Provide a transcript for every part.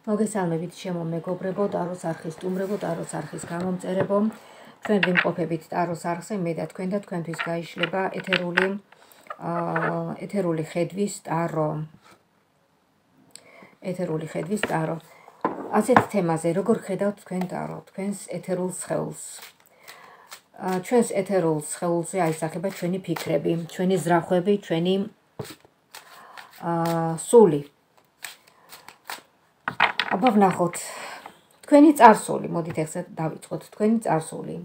მოგესალმებით ჩემო მეგობრებო, ტაროს არხის სტუმრებო, ტაროს არხის გამომწერებო. თქვენ ვიმყოფებით ტაროს არხზე, მე და თქვენთვის გაიშლება ეთერული ხედვის ტარო. ასეთ თემაზე, როგორ ხედავთ თქვენ ტარო, თქვენს ეთერულ სხეულს. ჩვენს ეთერულ სხეულზე აისახება ჩვენი ფიქრები, ჩვენი ზრახვები, ჩვენი სული. აბა ვნახოთ თქვენი წარსული, მოდით ახლა დავიწყოთ თქვენი წარსული.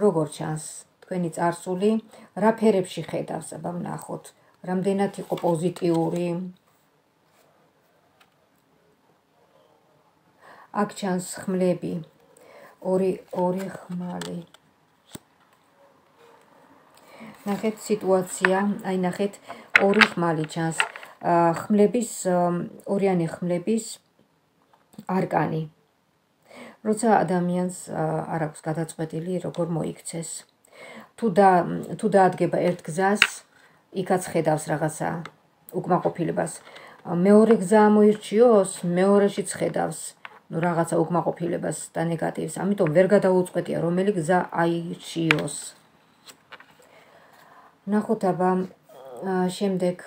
როგორ ჩანს თქვენი წარსული, რა ფერებში ხედავს, აბა ვნახოთ, რამდენად იყო პოზიტიური. აქ ჩანს ხმლები, ორი ხმალი. ნახეთ სიტუაცია, აი ნახეთ ორი ხმალი ჩანს, ხმლების, ორიანი ხმლების არკანი. როცა ადამიანს არ აქვს გადაწყვეტილი როგორ მოიქცეს. თუ დაადგება ერთ გზას, იქაც ხედავს რაღაცა უკმაყოფილებას. მეორე გზა მოირჩიოს, მეორეშიც ხედავს რაღაცა უკმაყოფილებას და ნეგატივს. ამიტომ ვერ გადაუწყვეტია რომელი გზა აირჩიოს. ნახოთ აბა შემდეგ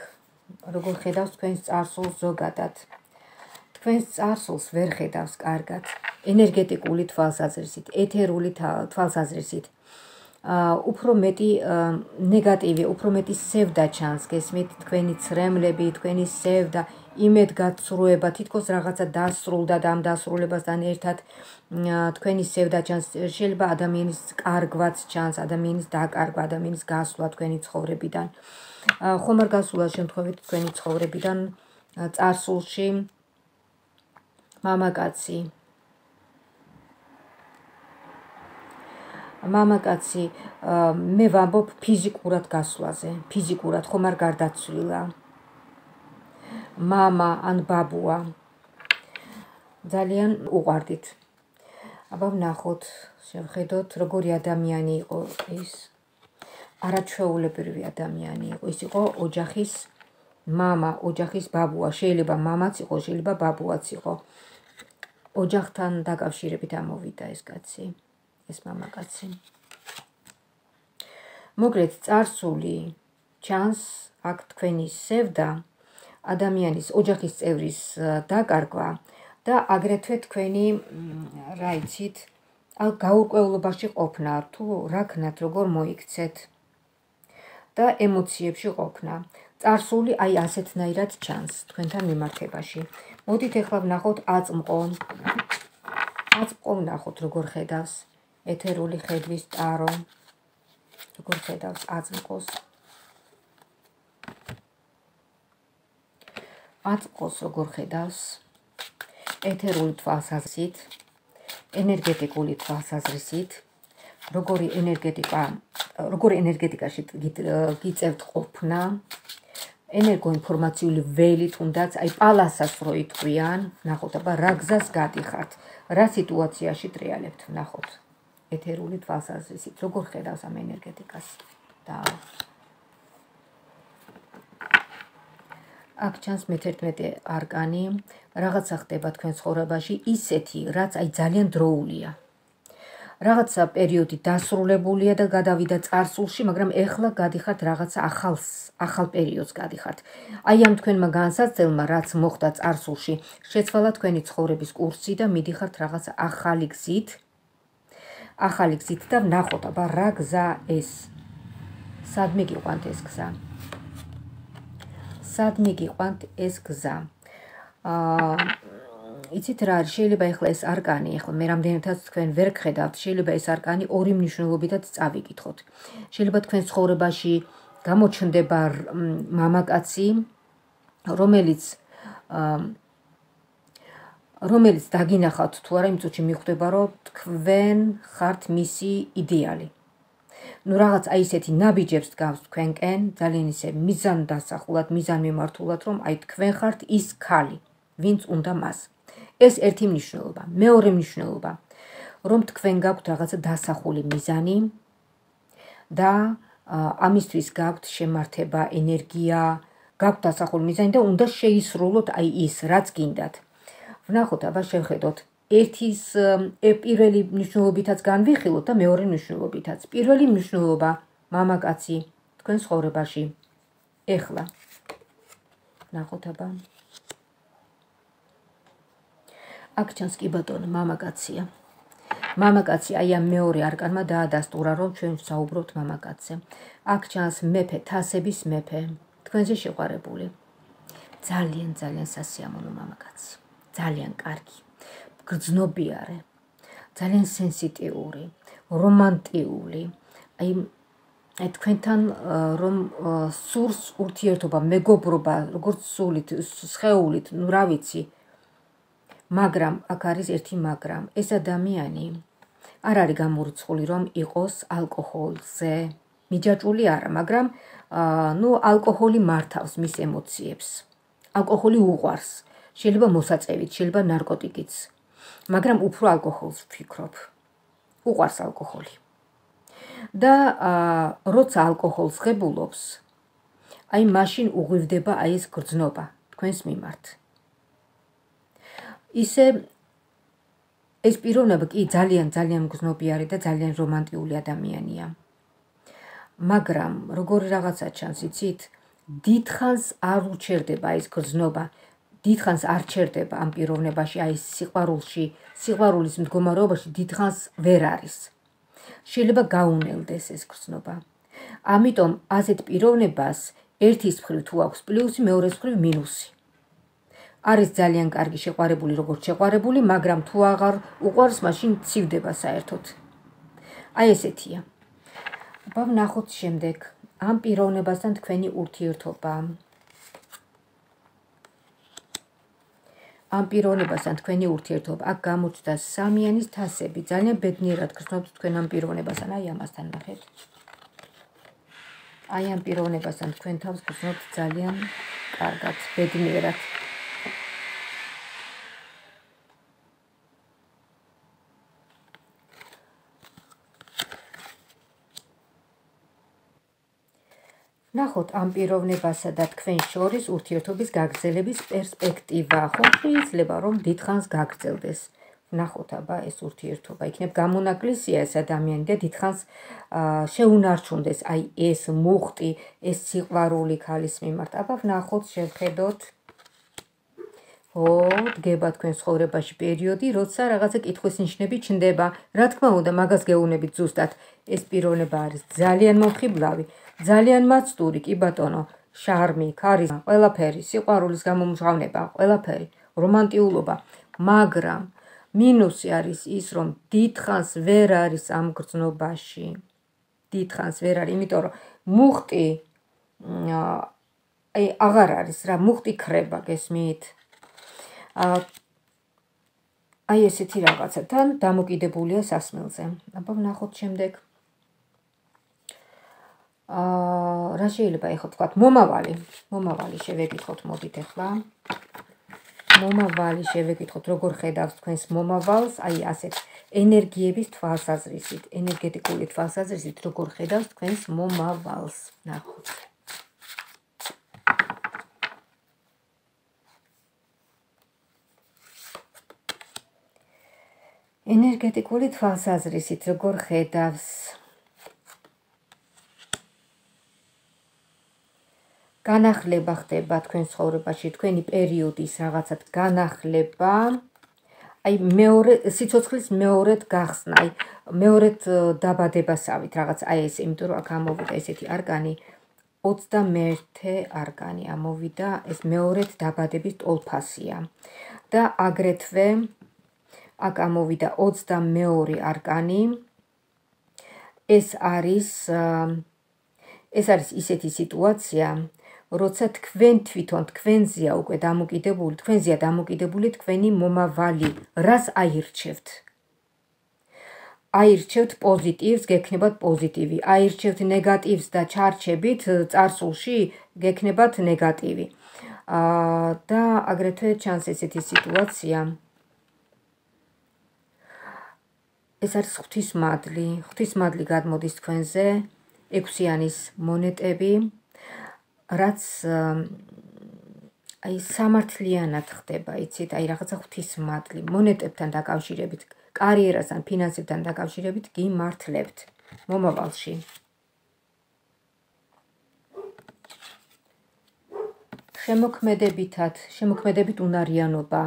როგორ ხედავს თქვენს წარსულს ზოგადად. თქვენს წარსულს ვერ ხედავს კარგად, ენერგეტიკული თვალსაზრისით, ეთერული თვალსაზრისით. უფრო მეტი ნეგატივი, უფრო მეტი სევდა ჩანს, გესმით, თქვენი ცრემლები, თქვენი სევდა, იმედგაცრუება, თითქოს რაღაცა დასრულდა და ამ დასრულებასთან ერთად თქვენი სევდა ჩანს, შეიძლება ადამიანის კარგვაც ჩანს, ადამიანის დაკარგვა, ადამიანის გასვლა თქვენი ცხოვრებიდან. ხომ არ გასულა შემთხვევით თქვენი ცხოვრებიდან წარსულში მამაკაცი, მე ვამბობ ფიზიკურად გასვლაზე, ფიზიკურად ხომ არ გარდაცვლილა. მამა ან ბაბუა ძალიან უყვარდით. აბა ვნახოთ, შევხედოთ როგორი ადამიანი იყო ის. არაჩვეულებრივი ადამიანი იყო. ის იყო ოჯახის მამა, ოჯახის ბაბუა, შეიძლება მამაც იყო, შეიძლება ბაბუაც იყო. ოჯახთან დაკავშირებით ამოვიდა ეს კაცი, ეს მამაკაცი. მოკლედ წარსული ჩანს, აქ თქვენი სევდა, ადამიანის, ოჯახის წევრის დაკარგვა და აგრეთვე თქვენი, რა იცით, გაურკვევლობაში ყოფნა, თუ რა ქნათ, როგორ მოიქცეთ და ემოციებში ყოფნა. წარსული აი ასეთნაირად ჩანს თქვენთან მიმართებაში. მოდით ახლა ვნახოთ აწმყო. აწმყო ვნახოთ როგორ ხედავს ეთერული ხედვის ტარო. როგორ ხედავს აწმყოს. აწმყოს როგორ ხედავს ეთერული თვალსაზრისით, ენერგეტიკული თვალსაზრისით, როგორი ენერგეტიკაში გიწევთ ყოფნა, ენერგოინფორმაციული ველი თუნდაც, აი პალასას რო იტყვიან, ნახოთ, აბა რა გზას გადიხართ, რა სიტუაციაში ტრიალებთ, ნახოთ, ეთერული თვალსაზრისით, როგორ ხედავს ამ ენერგეტიკას და აქ ჩანს მე-11 არკანი, რაღაცა ხდება თქვენ ცხოვრებაში ისეთი, რაც აი ძალიან დროულია. რაღაცა პერიოდი დასრულებულია და გადავიდა წარსულში, მაგრამ ეხლა გადიხართ რაღაცა ახალ პერიოდს გადიხართ. აი ამ თქვენმა განსაცდელმა, რაც მოხდა წარსულში, შეცვალა თქვენი ცხოვრების კურსი და მიდიხართ რაღაცა ახალი გზით და ვნახოთ, აბა რა გზა ეს. სადმე გიყვანთ ეს გზა. სადმე გიყვანთ ეს გზა. იცით რა არის, შეიძლება ახლა ეს არკანი, ახლა მე რამდენადაც თქვენ ვერ გხედავთ, შეიძლება ეს არკანი ორი მნიშვნელობითაც წავიკითხოთ. შეიძლება თქვენ ცხოვრებაში გამოჩნდება მამაკაცი, რომელიც დაგინახავთ თუ არა, იმ წუთში მიხვდება, რომ თქვენ ხართ მისი იდეალი. რაღაც აი ესეთი ნაბიჯებს გავს თქვენკენ, ძალიან ისე მიზანდასახულად, მიზანმიმართულად, რომ აი თქვენ ხართ ის ქალი, ვინც უნდა მას. ეს ერთი მნიშვნელობა. მეორე მნიშვნელობა, რომ თქვენ გაქვთ რაღაცა დასახული მიზანი და ამისთვის გაქვთ შემართება, ენერგია, გაქვთ დასახული მიზანი და უნდა შეისრულოთ აი ის, რაც გინდათ. ვნახოთ, აბა შევხედოთ. ერთის პირველი მნიშვნელობითაც განვიხილოთ და მეორე მნიშვნელობითაც. პირველი მნიშვნელობა მამაკაცი თქვენ ცხოვრებაში. ეხლა ვნახოთ, აბა. აქ ჩანს კი ბატონო, მამაკაცია. მამაკაცი აი ამ მეორე არკანმა დაადასტურა, რომ ჩვენ ვსაუბრობთ მამაკაცზე. აქ ჩანს მეფე, თასების მეფე, თქვენზე შეყვარებული. ძალიან სასიამოვნო მამაკაცი. ძალიან კარგი. გრძნობიარე, ძალიან სენსიტიური, რომანტიული. აი თქვენთან რომ სურს ურთიერთობა, მეგობრობა, როგორც სულით, სხეულით, ნუ რა ვიცი. მაგრამ აქ არის ერთი მაგრამ. ეს ადამიანი არ არის გამორიცხული, რომ იყოს ალკოჰოლზე. მიჯაჭვული არა, მაგრამ ნუ ალკოჰოლი მართავს მის ემოციებს. ალკოჰოლი უყვარს. შეიძლება მოსაწევით, შეიძლება ნარკოტიკიც. მაგრამ უფრო ალკოჰოლს ვფიქრობ. უყვარს ალკოჰოლი. და როცა ალკოჰოლს ღებულობს, აი მაშინ უღვივდება აი ეს გრძნობა თქვენს მიმართ. ისე ეს პიროვნება კი ძალიან მგრძნობიარე და ძალიან რომანტიული ადამიანია. მაგრამ როგორი რაღაცა ჩანს, იცით, დიდხანს არ უჩერდება ეს გრძნობა. დიდხანს არ ჩერდება ამ პიროვნებაში, აი სიყვარულის მდგომარეობაში დიდხანს ვერ არის. შეიძლება გაუნელდეს ეს გრძნობა. ამიტომ ასეთ პიროვნებას ერთის მხრივ თუ აქვს პლუსი, მეორეს მხრივ მინუსი. არის ძალიან კარგი შეყვარებული, როგორც შეყვარებული, მაგრამ თუ აღარ უყვარს, მაშინ ცივდება საერთოდ. აი ესეთია. აბა ვნახოთ შემდეგ ამ პიროვნებასთან თქვენი ურთიერთობა. ამ პიროვნებასთან თქვენი ურთიერთობა. აქ გამოჩნდა სამიანის თასები. ძალიან ბედნიერად გრძნობთ თქვენ ამ პიროვნებასთან. აი ამასთან ნახეთ. აი ამ პიროვნებასთან თქვენ თავს გრძნობთ ძალიან კარგად, ბედნიერად. ნახოთ ამ პიროვნებასა და თქვენ შორის ურთიერთობის გაგრძელების პერსპექტივა. ხომ შეიძლება რომ დიდხანს გაგრძელდეს. ნახოთ, აბა ეს ურთიერთობა იქნებ გამონაკლისია ეს ადამიანი და დიდხანს შეუნარჩუნდეს აი ეს მუხტი, ეს სიყვარული ქალის მიმართ. აბა ვნახოთ, შევხედოთ. დგება თქვენ ცხოვრებაში პერიოდი, როცა რაღაცა კითხვის ნიშნები ჩნდება. რა თქმა უნდა, მაგას გეუბნებით ზუსტად. ეს პიროვნება არის ძალიან მომხიბლავი, ძალიან მაცდური, კი ბატონო, შარმი, ქარიზმა, ყველაფერი, სიყვარულის გამომჟღავნება, ყველაფერი, რომანტიულობა, მაგრამ მინუსი არის ის, რომ დიდხანს ვერ არის ამ გრძნობაში. დიდხანს ვერ არის, იმიტომ რომ მუხტი აი აღარ არის რა, მუხტი ქრება, გესმით? აი ესეთი რაღაცა თან დამოკიდებულია სასმელზე. აბა ვნახოთ შემდეგ. რა შეიძლება ეხლა თქვათ, მომავალი შევეკითხოთ, მოდით ახლა. მომავალი შევეკითხოთ, როგორ ხედავს თქვენს მომავალს, აი ასეთ ენერგიების თვალსაზრისით, ენერგეტიკული თვალსაზრისით, როგორ ხედავს თქვენს მომავალს. ნახოთ. ენერგეტიკული თვალსაზრისით, როგორ ხედავს. განახლება ხდება თქვენ ცხოვრებაში, თქვენი პერიოდის რაღაცად განახლება. აი მეორე სიცოცხლის მეორედ გახსნა, აი მეორედ დაბადებასავით რაღაც აი ეს, იმიტომ რომ აქ ამოვიდა ესეთი არკანი, 21 არკანი ამოვიდა, ეს მეორედ დაბადების ტოლფასია. და აგრეთვე აქ ამოვიდა 22 არკანი. ეს არის ისეთი სიტუაცია, როცა თქვენ თვითონ თქვენზეა უკვე დამოკიდებული, თქვენზეა დამოკიდებული თქვენი მომავალი, რას აირჩევთ. აირჩევთ პოზიტივს, გექნებათ პოზიტივი, აირჩევთ ნეგატივს და ჩარჩებით წარსულში, გექნებათ ნეგატივი. და აგრეთვე ჩანს ესეთი სიტუაცია. ეს არის ღვთისმადლი გადმოდის თქვენზე, 6-იანის მონეტები, რაც აი სამართლიანად ხდება, იცით, აი რაღაცა ღვთისმადლი, მონეტებთან დაკავშირებით, კარიერასთან, ფინანსებთან დაკავშირებით გიმართლებთ მომავალში. შემოქმედებით უნარიანობა.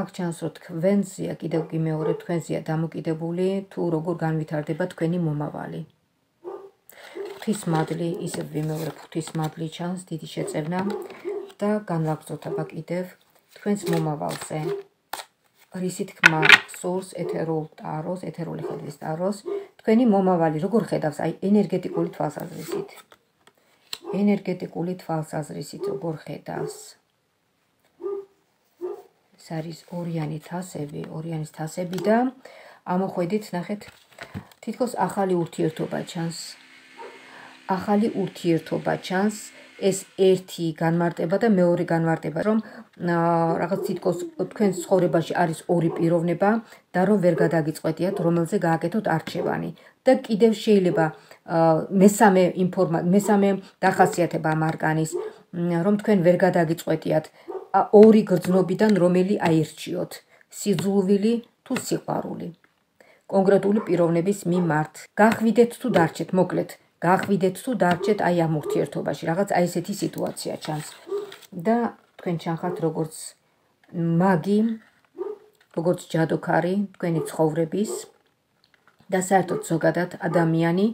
აქ ჩანს, რომ თქვენზეა, კიდევ კი მეორე თქვენზეა დამოკიდებული, თუ როგორ განვითარდება თქვენი მომავალი. ღვთისმადლი, ისევ ვიმეორებ, ღვთისმადლი ჩანს, დიდი შეწევნა და განვაგრძოთ აბა კიდევ თქვენს მომავალზე. რისი თქმა სურს ეთერულ ტაროს, ეთერული ხედვის ტაროს, თქვენი მომავალი როგორ ხედავს, აი ენერგეტიკული თვალსაზრისით. ენერგეტიკული თვალსაზრისით როგორ ხედავს. ეს არის ორიანის თასები და ამოხვედით, ნახეთ, თითქოს ახალი ურთიერთობა ჩანს. ახალი ურთიერთობა ჩანს, ეს ერთი განმარტება და მეორე განმარტება, რომ რაღაც თითქოს თქვენს ცხოვრებაში არის ორი პიროვნება და რომ ვერ გადაგიწყვეტიათ, რომელზე გააკეთოთ არჩევანი. და კიდევ შეიძლება მესამე დახასიათება ამ არკანის, რომ თქვენ ვერ გადაგიწყვეტიათ ორი გრძნობიდან რომელი აირჩიოთ, სიძულვილი თუ სიყვარული. კონკრეტული პიროვნების მიმართ. გახვიდეთ თუ დარჩეთ, მოკლედ. გახვიდეთ თუ დარჩეთ აი ამ ურთიერთობაში, რაღაც აი ესეთი სიტუაცია ჩანს. და თქვენ ჩანხართ როგორც მაგი, როგორც ჯადოქარი თქვენი ცხოვრების და საერთოდ ზოგადად ადამიანი,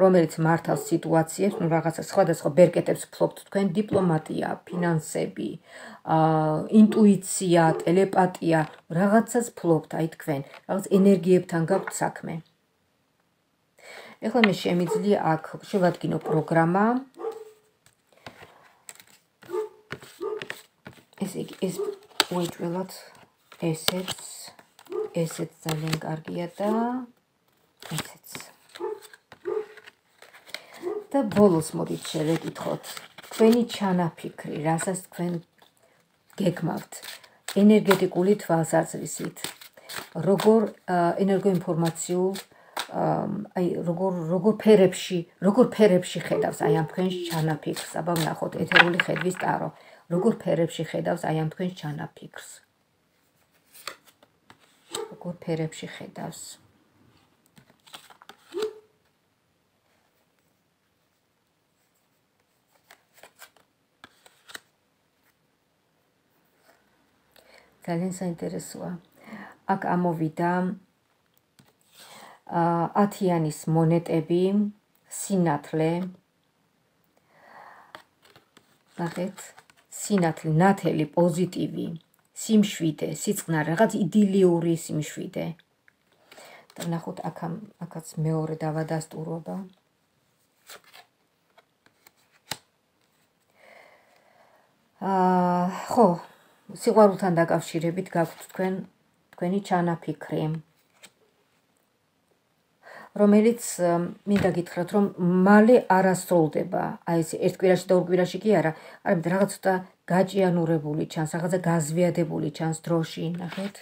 რომელიც მართავს სიტუაციებს, რაღაცა სხვადასხვა ბერკეტებს ფლობთ თქვენ, დიპლომატია, ფინანსები, ინტუიცია, ტელეპათია, რაღაცას ფლობთ აი თქვენ, რაღაც ენერგიებთან გაქვთ საქმე. ეხლა მე შემიძლია აქ შევადგინო პროგრამა. ესე იგი, ეს უეჭველად ესეც ძალიან კარგია და ესეც. და ბოლოს მოდით შევეკითხოთ თქვენი ჩანაფიქრი, რასაც თქვენ გეგმავთ ენერგეტიკული თვალსაზრისით. როგორ ენერგოინფორმაციულ აი როგორ ფერებში ხედავს აი ამ თქვენს ჩანაფიქრს. აბა ვნახოთ ეთერული ხედვის ტარო. როგორ ფერებში ხედავს აი ამ თქვენს ჩანაფიქრს. როგორ ფერებში ხედავს. ძალიან საინტერესოა. აქ ამოვიდა ათიანის მონეტები, სინათლე. ნახეთ, სინათლე, ნათელი, პოზიტივი, სიმშვიდე, სიწყნარე, რაღაც იდილიური სიმშვიდე. და ვნახოთ აქაც მეორე დავადასტურობა. ხო, სიყვარულთან დაკავშირებით გაქვთ თქვენი ჩანაფიქრი, რომელიც მინდა გითხრათ, რომ მალე არასრულდება. აი ეს ერთ კვირაში და ორ კვირაში კი არა, არამედ რაღაც ცოტა გაჭიანურებული ჩანს, რაღაცა გაზვიადებული ჩანს დროში, ნახეთ.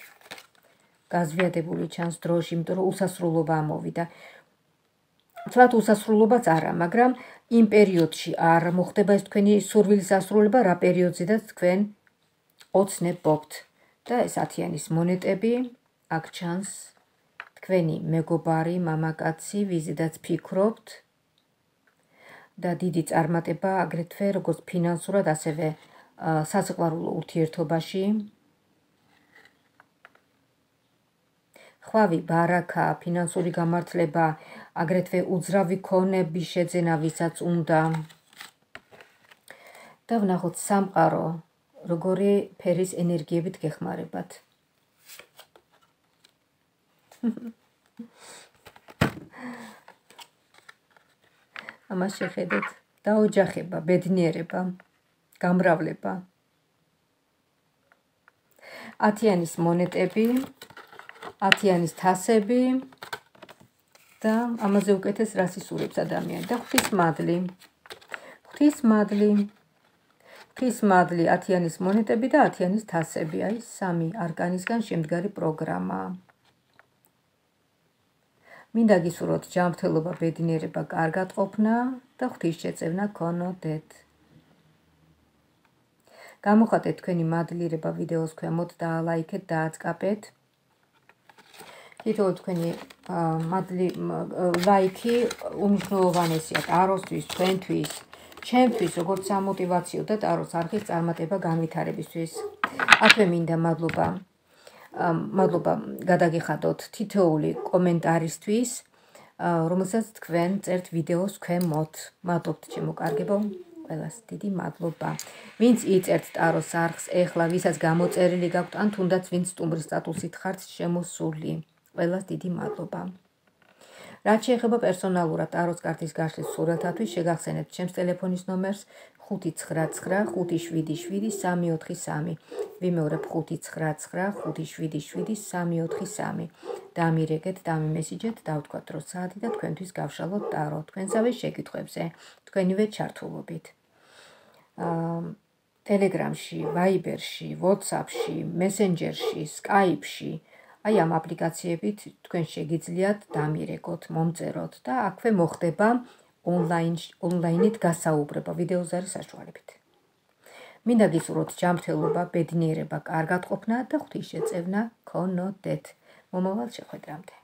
გაზვიადებული ჩანს დროში, იმიტომ რომ უსასრულობა ამოვიდა. ცოტა უსასრულობაც არა, მაგრამ იმ პერიოდში არ მოხდება ეს თქვენი სურვილის ასრულება, რა პერიოდზედაც თქვენ ოცნებობთ. და ეს ათიანის მონეტები, აქ ჩანს თქვენი მეგობარი, მამაკაცი, ვიზედაც ფიქრობთ და დიდი წარმატება აგრეთვე როგორც ფინანსურად, ასევე სასიყვარულო ურთიერთობაში. ხვავი, ბარაკა, ფინანსური გამართლება, აგრეთვე უძრავი ქონების შეძენა, ვისაც უნდა. და ვნახოთ სამყარო, როგორი ფერის ენერგიებით გეხმარებათ. ამას შეხედეთ, დაოჯახება, ბედნიერება, გამრავლება. ათიანის მონეტები, ათიანის თასები და ამაზე უკეთეს რას ისურვებს ადამიანი და ღვთისმადლი. ღვთისმადლი, ათიანის მონეტები და ათიანის თასები, აი სამი არკანისგან შემდგარი პროგრამა. მინდა გისურვოთ ჯანმრთელობა, ბედნიერება, კარგად ყოფნა და ღვთისშეწევნა გქონოდეთ. გამოხატეთ თქვენი მადლიერება ვიდეოს ქვემოთ და ლაიქეთ, დააწყაპეთ. თითოეულ თქვენი ლაიქი უმნიშვნელოვანესია ტაროსთვის, თქვენთვის, ჩემთვის, როგორც სამოტივაციო და ტაროს არხის წარმატება განვითარებისთვის. აქვე მინდა მადლობა გადაგიხადოთ თითოეული კომენტარისთვის, რომელსაც თქვენ წერთ ვიდეოს ქვემოთ. მადლობთ ჩემო კარგებო, ყველას დიდი მადლობა. ვინც იწერთ ტაროს არხს ეხლა, ვისაც გამოწერილი გაქვთ, ან თუნდაც ვინც სტუმრის სტატუსით ხართ შემოსული. ყველას დიდი მადლობა. რაც შეეხება პერსონალურად ტაროს კარტის გაშლის სურათათვის, შეგახსენებთ ჩემს ტელეფონის ნომერს 599577343. ვიმეორებ 599577343. დამირეკეთ, დამიმესიჯეთ, დავთქვათ დრო საათი და თქვენთვის გავშალოთ ტარო თქვენსავე შეკითხვებზე, თქვენივე ჩართულობით. ტელეგრამში, ვაიბერში, ვატსაპში, მესენჯერში, სკაიპში, აი ამ აპლიკაციებით თქვენ შეგიძლიათ დამირეკოთ, მომწეროთ და აქვე მოხდება ონლაინით გასაუბრება ვიდეოზე არის საშუალებით. მინდა გისურვოთ ჯანმრთელობა, ბედნიერება, კარგად ყოფნა და ღვთისშეწევნა გქონოდეთ. მომავალ შეხვედრამდე.